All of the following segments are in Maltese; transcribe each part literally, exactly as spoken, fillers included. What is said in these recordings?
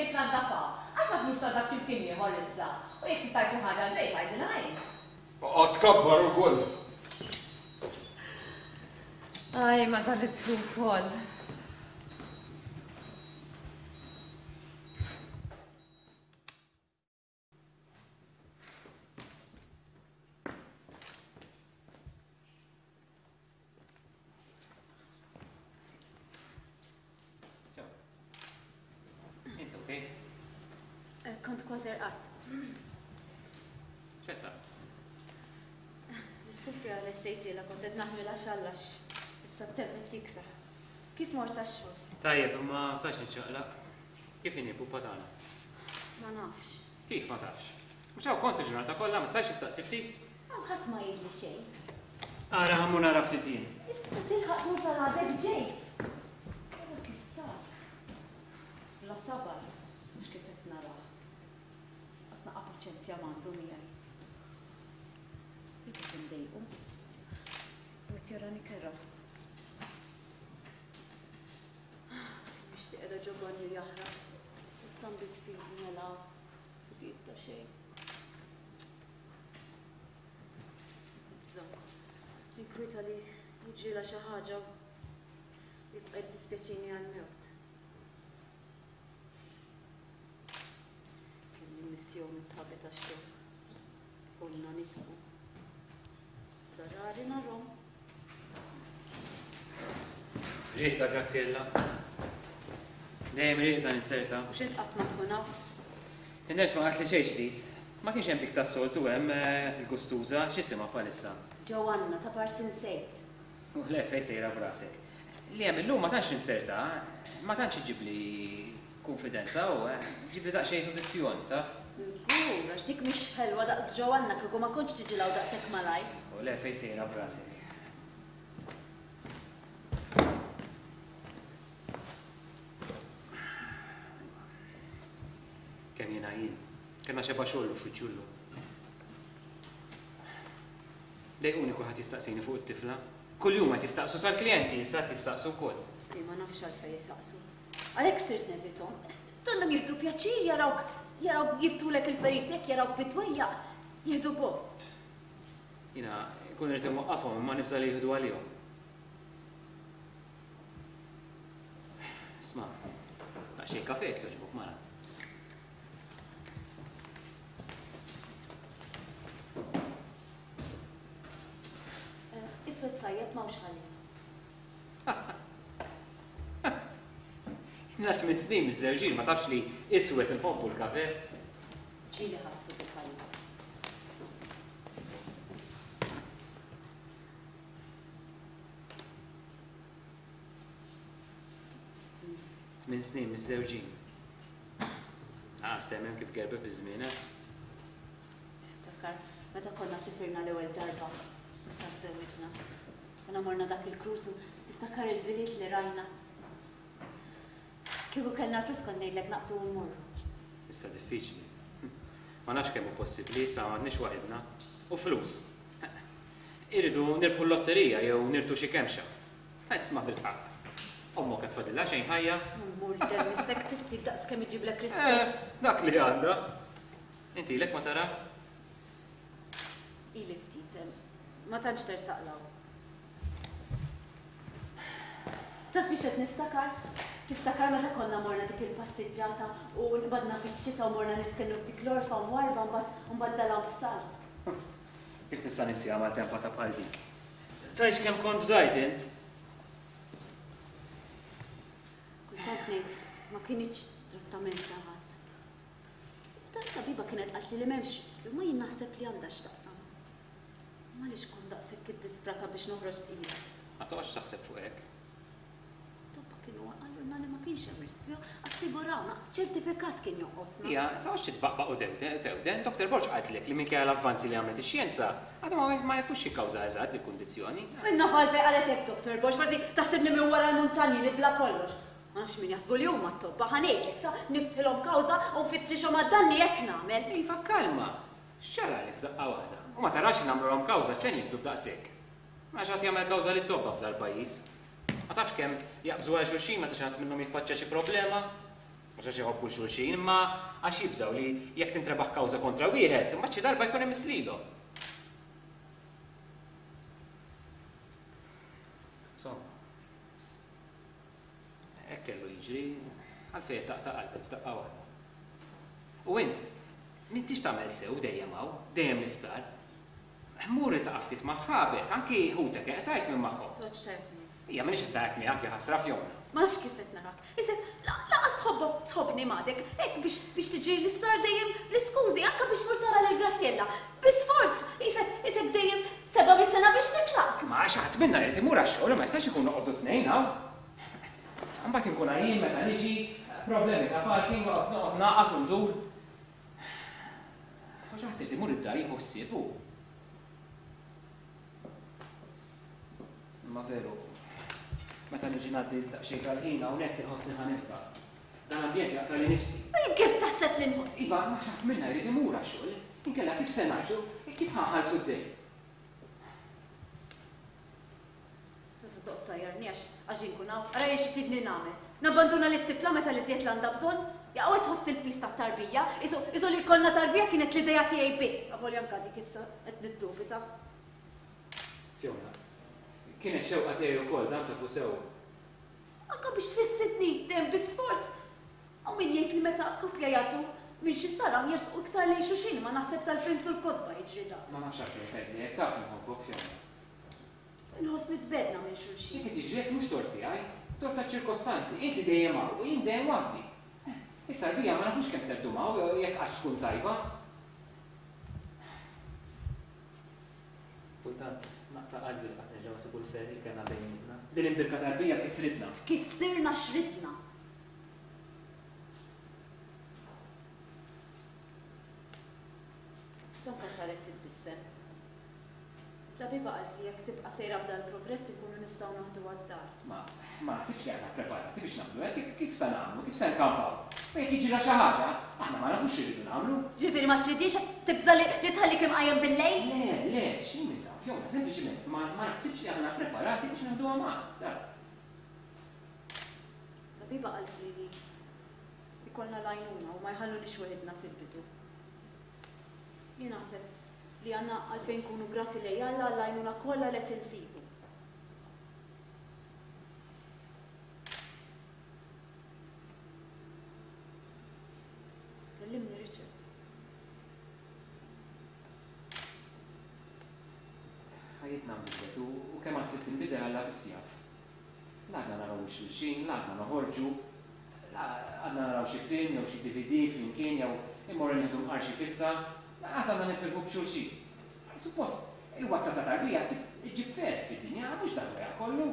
ġejt tnaddafha. Għax ma tmurx tnaddaf xi mkien ieħor issa. U jekk trid tgħid xi ħaġa lil Grace għidilha int. Oqgħod tkabbar ukoll. Aj, ma dan it-tul ukoll. Int okej? Eh, Kont kważi rqadt. Xetta. L-iskufja l-estejtila kont qed naħmilha xallax. Issa t-temp qed jiksaħ. Kif mort għax-xogħol? Tajjeb, imma sax niċċaqlaq. Kif inhi pupa tagħna? Ma nafx. Kif ma tafx? Mhux hawn kont il-ġurnata kollha, ma stajtx issaqsi ftit? Hawn ħadd ma jgħidli xejn. Ara ħammu nara ftit jien. Issa tilħaq tmur tal-għadek ġej. Ara kif sar. Bla sabar, mhux kif qed narah. Qas naqa' paċenzja m'għandu miegħi. Dik qed indejqu. U qed jarani kerha. Nixtieq qiegħda ġo banju jaħraq. It-tambit fidi mela subiet ta' xejn. Nibża'. Ninkwieta li jiġrilha xi ħaġa u jibqa' jiddispjaċini għall-mewt. Kelli missjoni minn sħabi tax-xogħol. Konna nitqu. Issa rari narhom. Rieqda, Graziella. Dejjem rieqda ninzerta. U x'int qatt ma tkun hawn? In-nurse ma qaltli xejn ġdid. Ma kienx hemm dik tas-soltu hemm eh, il-gustuża, x'isimha bħalissa. Joanna ta' Parsin Sejt. U le fejn sejra b'rasek. Li hemm illum ma tantx inserta, ma tantx iġibli konfidenza u eh, ġibli daqsxejn sodizzjon, taf? Żgur, għax dik mhix ħelwa daqs Joanna kieku ma kontx tiġi law daqshekk malaj. U le fejn sejra b'rasek. Kemm jiena jien. Kellna xeba xogħol l-uffiċċju llum. Dejquni kulħadd jistaqsini fuq it-tifla. Kuljum qed jistaqsu sal-klijenti, issa qed jistaqsu wkoll. Li ma nafx għalfejn jisaqsu. Għalhekk sirt nevithom. Donnhom jieħdu pjaċir jarawk jarawk jiftulek il-feriti jekk jarawk bit-twejjaq jieħdu gost. Jiena nkun irid inwaqqafhom imma nibża' li jieħdu għalihom. Isma', daqsxejn kafe jekk jogħġbok mara. Eh, Iswed tajjeb m'hawnx ħalib. Ilna tmien snin miżżewġin, ma tafx li iswed inħobbu l-kafe. Ġieli ħadtu bil-ħalib. Tmien snin miżżewġin. Ah, stemmen kif gerbeb iż-żmien, eh? Tiftakar, meta konna sifirna l-ewwel darba, meta żżewġna. Konna morna dak il-cruise u tiftakar il-biliet li rajna. Kieku kellna l-flus kont ngħidlek naqbdu u mmorru. Issa diffiċli. Ma nafx kemm hu possibbli, issa m'għadniex waħedna. U flus. Irridu nirbħu l-lotterija jew nirtu xi kemxa. Isma' bil-ħaqq. Ommok qed tfadilha xejn ħajja. Mur dem issek tissib daqs kemm iġiblek rispett. Eh, dak li għandha. Inti ilek ma tara? Ili ftit, ma tantx tersaq law. Taf fiex qed niftakar? Tiftakar meta konna morna dik il-passiġġata u nqbadna fix-xita u morna nistennu f'dik l-orfa u mwarba mbagħad mbagħad dalam f'salt. Kif tista' ninsieha maltempata bħal dik? Tgħidx kemm kont bżajt int? Kultant ngħid ma kinitx trattament ta' ħadd. Tat-tabiba kienet qaltli li m'hemmx riskju, ma jien naħseb li għandha x'taqsam. Ma għaliex kont daqshekk iddisprata biex noħroġ tqila. Ma toqgħodx taħseb fuq hekk. Tobba kienu qalulna li ma kienx hemm riskju, assigurawna, ċertifikat kien jonqosna. Ija, toqgħodx titbaqbaq u tewden, tewden. Doktor Borg qaltlek li minkejja l-avvanzi li għamlet ix-xjenza, għadhom ma ma jafux xi kawża eżatt dik kundizzjoni. Inna għalfejn qalet hekk, Doktor Borg, forsi taħsibni minn wara l-muntanji nibla kollox. Ma nafx min jaħsbu li huma t-tobba, ħa ngħidlek ta' niftħilhom kawża u nfittixhom għad-danni hekk nagħmel. Iva, kalma. X'ġaralek f'daqqa waħda? U ma tarax li nagħmluhom kawża x'se nieħdu b'daqshekk. Ma xi ħadd jagħmel kawża lit-tobba f'dal-pajjiż. Ma tafx kemm jaqbżu għal xulxin meta xi ħadd minnhom jiffaċċja xi problema. Mhux għax iħobbu xulxin, imma għax jibżgħu li jekk tintrebaħ kawża kontra wieħed, imbagħad xi darba jkun hemm lilhom. Insomma. Hekk kellu jiġri, għalfejn taqta' qalbek f'daqqa waħda. U int, m'intix tagħmel sew dejjem hawn, dejjem l-isptar. Mur iltaqa' ftit ma' sħabek, anki ħutek qed tgħid minn magħhom. Toqgħodx tgħid miegħi. Ija m'iniex qed ngħid miegħek ja ħasra Fiona. Ma nafx kif qed narak. Isek, lanqas tħobbok tħobbni m'għadek, hekk biex biex tiġi l-isptar dejjem bl-iskużi, anke biex tmur tara lil Graziella. Bi sforz, isek isek dejjem seba' mitt sena biex titlaq. Ma għax ħadd minna jrid imur għax-xogħol ma jistax ikun noqogħdu tnejn hawn. Imbagħad inkun għajjien meta niġi, problemi ta' parking, noqgħod noqgħod naqgħad u ndur. U xi ħadd irid imur id-dar jieħu ħsieb hu. Imma veru, meta niġi ngħaddi daqsxejn tal-ħin hawnhekk inħossni ħa nifqa'. Dan l-ambjent jaqtali nifsi. U kif taħseb li nħoss? Iva, ma xi ħadd minna jrid imur għax-xogħol. Inkella kif se ngħixu, kif ħa nħallsu d-dejn? Se se toqgħod tajjarni għax għax inkun hawn, ara jien xi tridni nagħmel. Nabbanduna lit-tifla meta li żjed l-għandha bżonn? Jaqgħu tħoss il-piż tat-tarbija, isu isu li jkollna tarbija kienet l-idea tiegħi biss. Avolja anke dik issa qed niddubita. Fiona, kienet xewqa tiegħi wkoll dan tafu sew. Anke biex tfissidni dejjem bi sforz. Hawn min jgħid li meta koppja jgħaddu minn xi saram jersqu iktar lejn xulxin, ma naħseb tal-films u l-kotba jiġri dan. Ma nafx għalfejn tgħidli hekk, taf inħobbok Fiona. Inħoss li tbedna minn xulxin. Jekk qed jiġri hekk mhux tort tiegħi, tort taċ-ċirkostanzi, int li dejjem hawn u jien dejjem waħdi. It-tarbija ma nafux kemm se ddum hawn jekk qattx tkun tajba. Kultant naqta' qalbi li qatt nerġgħu nsibu l-ferħ li kellna bejnietna. Din imbirka tarbija kisritna. Tkissirna x'ridna. Sanka saret titbissem. Tabiba qalt li jekk tibqa' sejra f'dan il-progress ikunu nistgħu naħdu għad-dar. Ma ma naħsibx li aħna ppreparati biex nagħmlu hekk, kif se nagħmlu, kif se nkampaw. U jekk jiġrilha xi ħaġa, aħna ma nafux x'irridu nagħmlu. Ġifieri ma tridix tibża' li tħallik imqajjem bil-lejl? Le, le, x'in minn dawn, Fiona, sempliċiment ma naħsibx li aħna ppreparati biex naħduha magħna. Tabiba qalt li ikollna l-għajnuna u ma jħallunix weħidna fil-bidu. Jien naħseb li għandna għalfejn nkunu grati lejn Alla għall-għajnuna kollha li qed insibu. Kellimni Richard. Ħajjitna nbidlet u kemm għad trid tinbidel Alla biss jaf. La għadna naraw lil xulxin, la għadna noħorġu, la għadna naraw xi film jew xi D V D flimkien jew immorru nieħdu mqar xi pizza. Lanqas għandna nifirħu b'xulxin. Suppost, il-wasla ta' tarbija iġġib ferħ fid-dinja, mhux dan wara kollu.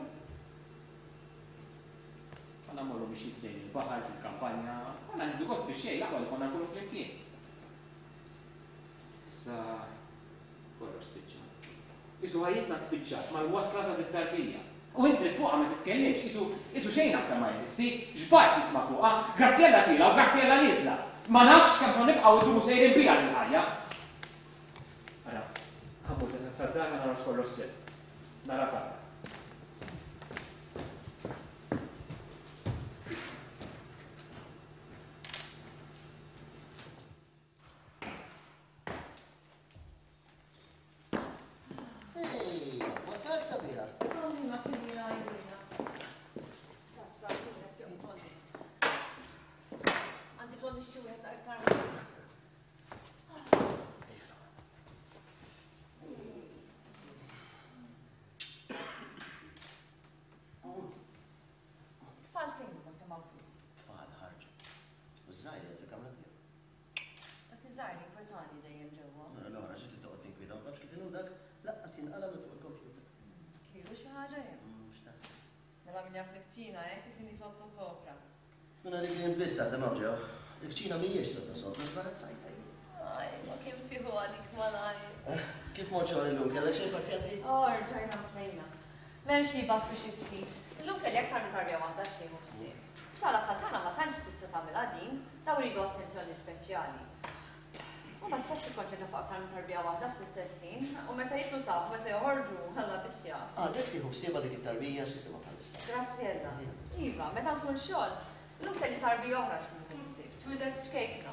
Konna mmorru biex jibdejn il-baħar fil-kampanja, konna nieħdu gost biex xejn, l-aqwa li konna nkunu flimkien. Issa kollox spiċċa. Isu ħajjitna spiċċat mal-wasla ta' dit-tarbija. U int li fuqha ma titkellimx, isu isu xejn aktar ma jeżisti, xbajt nisma' fuqha, Graziella tiela u Graziella nieżla. Ma nafx kemm ħa nibqgħu ndumu sejrin biha lil-ħajja. Ara, ħa mmur sad-dar ħa naraw x'kollox sew. Narak għada. Ej, wasalt sabiħa. Ma kien jgħidilna. Għandi bżonn nixtri wieħed aktar. Tfal fejn huma kemm hawn flus? Tfal ħarġu. U ż-żgħir qiegħed fil-kamra tiegħu. Dak iż-żgħir jinkwetani dejjem ġewwa. Mela l-oħra xi trid toqgħod tinkwieta ma tafx kif inhu dak laqqas jinqala' minn fuq il-kompjuter. Kielu xi ħaġa jew? X'taħseb? Mela min jaf l-kċina hekk kif inhi sotto sopra. Tkun għalik li int biss taħdem hawn ġew. Il-kċina mhijiex sotto sopra, żbarazzajta jien. Aj, ma kemm tieħu għalik malajr. Kif mort xogħol illum? Kellek xejn pazjenti? Oh, rġajna mtlejna. M'hemmx li jbattu xi ftit. Illum kelli aktar minn tarbija waħda x'nieħu ħsieb. F'sala bħal tagħna ma tantx tista' tagħmilha din, daw iridu attenzjoni speċjali. U ma tistax tikkonċentra fuq aktar minn tarbija waħda fl-istess ħin, u meta jitlu taf, meta joħorġu, ħalla biss jaf. Għadek tieħu ħsiebha dik it-tarbija x'isimha bħalissa? Graziella. Iva, meta nkun xogħol, illum kelli tarbija oħra x'nieħu Twildet ċkejkna.